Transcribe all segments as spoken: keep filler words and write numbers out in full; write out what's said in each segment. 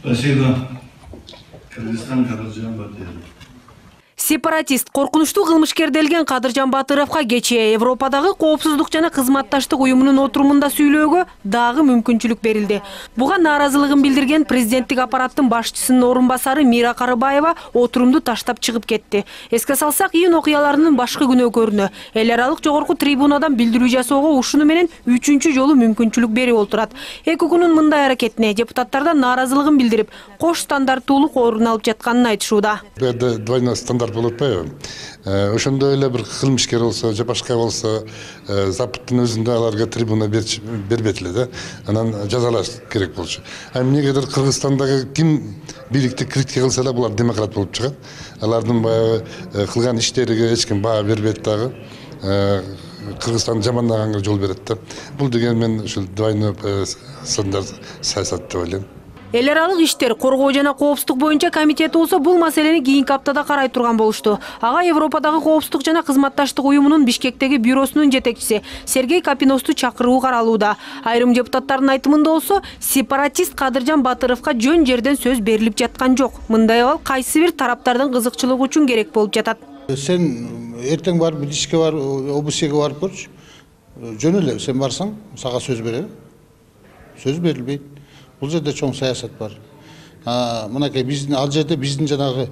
Спасибо. Кыргызстан, Кадыржан Батыров. Сепаратист коркунучтуу кылмышкер делген Кадыржан Батыровго кечээ Европадагы коопсуздук жана кызматташтык уюмунун отурумунда сүйлөөгө дагы мүмкүнчүлүк берилди. Буга нааразылыгын билдирген президенттик аппараттын башчысынын орун басары Мира Карыбаева отурумду таштап чыгып кетти. Эске салсак, июнь окуяларынын башкы күнөөкөрүнө эл аралык жогорку трибунадан билдирүү жасоого ушуну менен үчүнчү жолу мүмкүнчүлүк берип отурат. ЭКОКунун мындай аракетине депутаттардан нааразылыгын билдирип, кош стандарттуулук орун алып жатканын айтышууда. Двойной стандарт болуп атпайбы? Ошондой эле бир кылмышкер болсо, же башка болсо, запыттын өзүндө аларга трибуна бербейт эле да. Анан жазалаш керек болчу. А эмнегедир Кыргызстандагы ким бийликти критика кылса да булар демократ болуп чыгат. Алардын баягы кылган иштериге эч ким баа бербейт дагы. Кыргызстанды жамандаганга жол берет да. Бул деген мен ушул двойной стандарт саясат деп ойлойм. Эл аралык иштер коргоо жана коопсуздук боюнча комитети болсо бул маселени кийинки аптада карай турган болушту. Ага Европадагы коопсуздук жана кызматташтык уюмунун Бишкектеги бюросунун жетекчиси Сергей Капиносту чакыруу каралууда. Айрым депутаттардын айтымында болсо, сепаратист Кадыржан Батыровго жөн жерден сөз берилип жаткан жок. Мындай абал кайсы бир тараптардын кызыкчылыгы үчүн керек болуп жатат. Сен эртең барып, Бишкекке барып, ОБСЕге барып көрчү. Жөн эле сен барсаң, сага сөз берет. Сөз берилбейт. Бул жерде чоң саясат бар. Мынакей биздин ал жерде биздин жанагы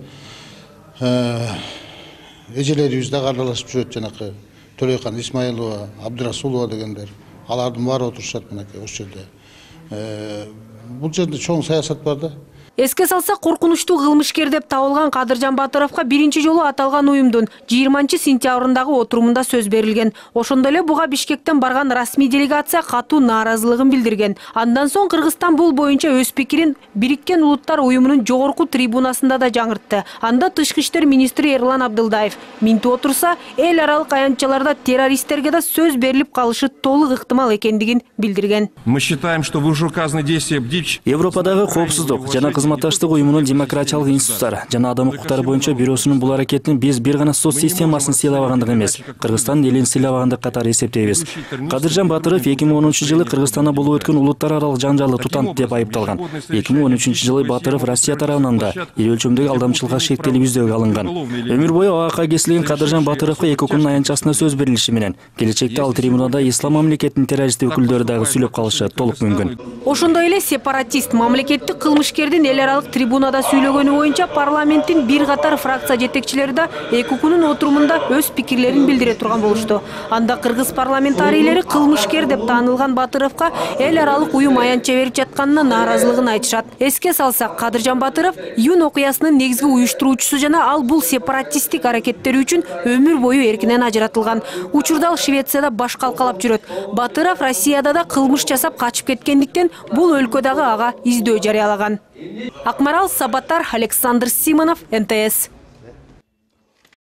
эжелерибиз да аралашып жүрөт, жанакы Төлөйкан Исмаилова, Абдырасулова дегендер. Алардын баары отурушат мынакей ошол жерде. Бул жерде чоң саясат бар да. Эске салсак, коркунучтуу кылмышкер деп табылган Кадыржан Батыровго биринчи жолу аталган уюмдун жыйырманчы сентябрындагы отурумунда сөз берилген. Ошондой эле буга Бишкектен барган расмий делегация катуу нааразылыгын билдирген. Андан соң Кыргызстан бул боюнча өз пикирин Бириккен Улуттар уюмунун жогорку трибунасында да жаңыртты. Анда тышкы иштер министри Эрлан Абдылдаев минтип отурса, эл аралык аянтчаларда террористтерге да сөз берилип калышы толук ыктымал экендигин билдирген. Мы считаем, что вышеуказанные действия бдич Европадагы коопсуздук жана кызматташтык уюмунун демократиялык институттар жана адам укуктары боюнча бюросунун бул аракетин биз бир гана соц системасын сыйлабагандык эмес, Кыргызстан элин сыйлабагандык катары эсептейбиз. Кадыржан Батыров эки миң он үчүнчү жылы Кыргызстанда болуп өткөн улуттар аралык жаңжалды тутант деп айыпталган. эки миң он үчүнчү жылы Батыров Россия тарабынан да ири өлчөмдөгү алдамчылыкка шектелип издөөгө алынган. Өмүр бою ААК кесилген Кадыржан Батыровго ЭКОКунун аянтчасына сөз берилиши менен келечекте ал трибунада ислам мамлекетинин террористтик өкүлдөрү дагы сүйлөп калышы толук мүмкүн. Ошондой эле сепаратист мамлекеттик кылмышкердин эл аралык трибунада сүйлөгөнү боюнча парламенттин бир катар фракция жетекчилери да ЭКОКунун отурумунда өз пикирлерин билдире турган болушту. Анда кыргыз парламентарийлери кылмышкер деп таанылган Батыровго эл аралык уюм аянтча берип жатканына нааразылыгын айтышат. Эске салсак, Кадыржан Батыров июнь окуясынын негизги уюштуруучусу жана ал бул сепаратисттик аракеттери үчүн өмүр бою эркинен ажыратылган. Учурда ал Швецияда баш калкалап жүрөт. Батыров Россияда да кылмыш жасап качып кеткендиктен бул өлкөдөгү ага издөө жарыялаган. Акмарал Сабатар, Александр Симонов, эн тэ эс.